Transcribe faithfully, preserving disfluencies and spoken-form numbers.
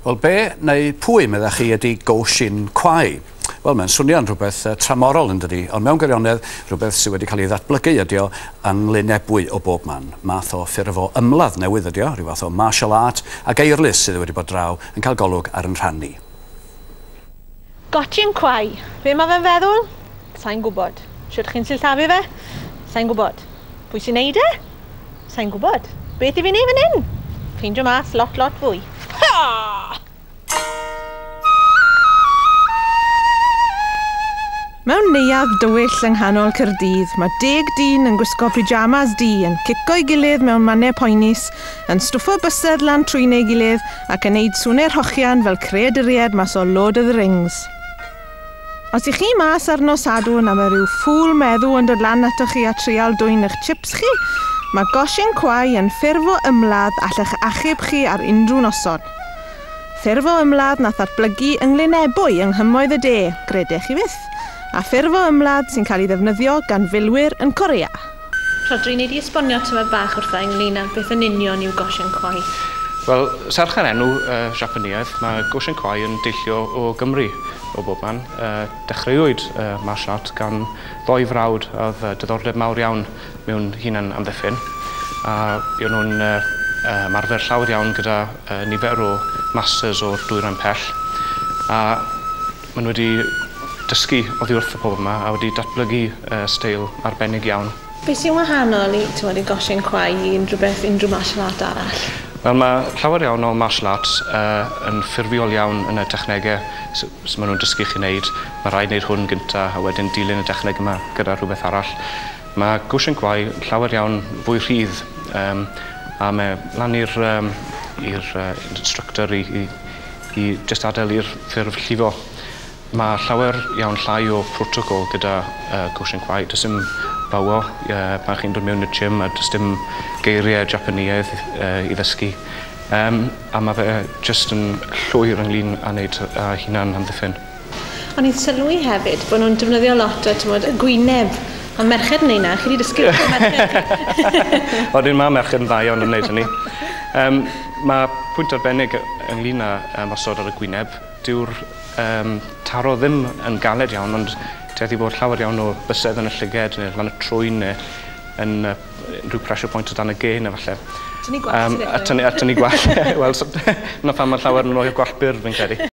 Wel, be neu pwy meddach chi ydy Goshin Kwai? Wel, mae'n swnio'n rhywbeth uh, tramorol yn dydi, ond mewn gwirionedd rhywbeth sydd wedi cael ei ddatblygu ydi o yng Nglynebwy o bob man. Math o ffurf o ymladd newydd ydi o, rhyw fath o martial art ac Eirlys sydd wedi bod draw yn cael golwg ar yn rhan ni. Goshin Kwai. Be mae fe'n feddwl? Sa'n gwybod. Shwt chi'n sillafu fe? Sa'n gwybod. Pwy sy'n neud e? Sa'n gwybod. Beth i fi neud fan hyn? Ffeindio mas lot, lot fwy. Ha! Mewn neuadd dywyll yng nghanol Caerdydd, mae deg dyn yn gwisgo pyjamas du yn cico'i gilydd mewn mannau poenus, yn stwffo bysedd lan trwyn ei gilydd ac yn neud swnau rhochian fel creaduriaid mas o Lord of the Rings. Os ych chi mas ar nos Sadwrn a mae rhyw ffŵl meddw yn dod lan atoch chi a trial dwyn eich chips chi, mae Goshin Kwai yn ffurf o ymladd allech achub chi ar unrhyw noson. Ffurf o ymladd nath ddatblygu yng Nglynebwy yng Nghymoedd y De, gredech chi fyth, a ffurf o ymladd sy'n cael ei ddefnyddio gan filwyr yn Corea. Rhodri, nei di esbonio tymed bach wrtha ynglyn â beth yn union yw Goshin Kwai? Wel, serch yr enw uh, Japaneaidd, mae Goshin Kwai yn deillio o Gymru o bob man. Uh, dechreuwyd uh, martial art gan ddoi frawd oedd uh, diddordeb mawr iawn mewn hunan amddiffyn. A buon nhw'n uh, uh, ymarfer llawer iawn gyda uh, nifer o masters o'r dwyrain pell. A maen nhw wedi dysgu oddi wrth y pobl yma a wedi datblygu uh, steil arbennig iawn. Beth sy'n wahanol i, t'mod, i Goshin Kwai i unrhyw beth, unrhyw martial art arall? Wel, mae llawer iawn o martial arts uh, yn ffurfiol iawn yn y technegau s- maen nhw'n dysgu chi wneud. Mae rhaid wneud hwn gynta a wedyn dilyn y techneg yma gyda rhywbeth arall. Mae Goshin Kwai llawer iawn fwy rhydd um, a mae lan i'r um, i'r uh, instructor i, i, i just adael i'r ffurf llifo. Mae llawer iawn llai o protocol gyda uh, Goshin Kwai. Does dim bowo uh, pan chi'n dod mewn i'r gym a does dim geiriau Japaneaidd uh, i ddysgu. Um, a mae fe jyst yn llwyr ynglyn â wneud uh, hunan amddiffyn. O'n i'n sylwi hefyd bod nhw'n defnyddio lot o, t'mod, y gwyneb. Ond merched yn neud 'na, chi wedi dysgu wrth y merched. Odyn, mae merched yn dda iawn yn wneud hynny. Um, mae pwynt arbennig ynglyn â ymosod ar y gwyneb. Dyw'r um, taro ddim yn galed iawn, ond tueddu bod llawer iawn o bysedd yn y llyged neu lan y trwyn neu yn uh, rhyw pressure point o dan y gên efallai. Tynnu gwallt. Um, a tynnu, a tynnu gwallt. Wel, so, 'na pham mae llawer yn rhoi gwallt byr, fi'n credu.